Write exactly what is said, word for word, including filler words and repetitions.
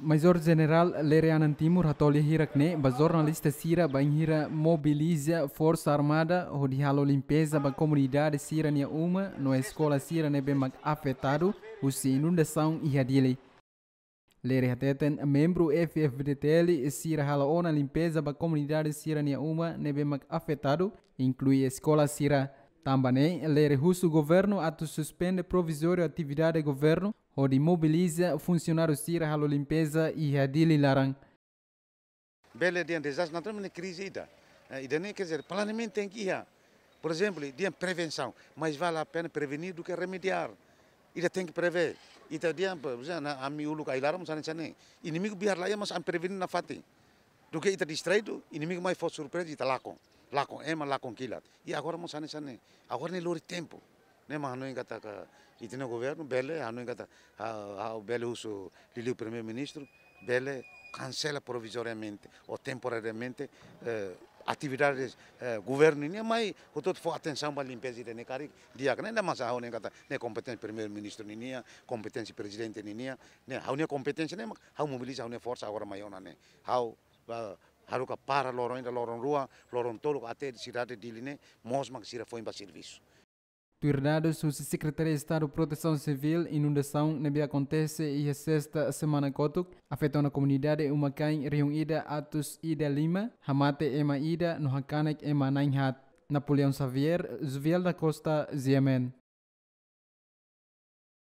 Major Jenerál Lere Anan Timur hatoli hirak ne'e ba jornalista sira bainhira mobiliza Forsa Armada hodi halo limpeza ba komunidade sira-nia uma no eskola sira ne'ebé mak afetadu husi inundasaun iha Dili. Lere hateten membru F F D T L sira halo ona limpeza ba komunidade sira-nia uma ne'ebé mak afetadu, inklui eskola sira. Tanba ne'e, Lere husu governu atu suspende provizóriu atividade governu hodi mobiliza funsionáriu sira halo limpeza iha Dili laran. Bele dehan dezastre naturál mak ne'e krize ida. Eh, ida-ne'e, quer dizer, planeamentu tenke iha. Por ezemplu, dehan prevensaun, mais vale a pena prevenir do que remediar. Ita tenke prevee. Ita dehan, por ezemplu, ami uluk ai-laran mós hanesan ne'e. Inimigu biar la iha, mas ami prevene nafatin. Duké ita distraídu, inimigu mai fó surpreza, ita lakon. Lakon ema, lakon kilat. I agora mós hanesan ne'e. Agora ne'e lori tempu. Ne'e mak hanoin katak ita-nia governu bele, hanoin katak, ah, ah, bele husu liuliu Primeiru-Ministru, bele kansela provizoriamente ou temporariamente, eh, atividades, eh, governu nian, mai hotu-hotu fó atensaun ba limpeza ida-ne'e karik di'ak, ne'e mak ha'u hanoin katak ne'e kompeténsia Primeiru-Ministru ninian, kompeténsia Prezidente ninian, ne'e ha'u-nia kompeténsia ne'e mak ha'u mobiliza ha'u-nia forsa agora mai ona ne'e. Ha'u, ah, haruka para loron ida, loron rua, loron tolu até sidade Dili ne'e moos mak sira foin ba servisu. Tuir dadus husi Sekretaria Estadu Protesaun Sivíl, inundasaun ne'ebé akontese iha sesta semana kotuk afeta ona komunidade uma-kain rihun ida atus ida lima, hamate ema ida no hakanek ema na'in haat. Napoleão Xavier, Joviel da Costa, G M N.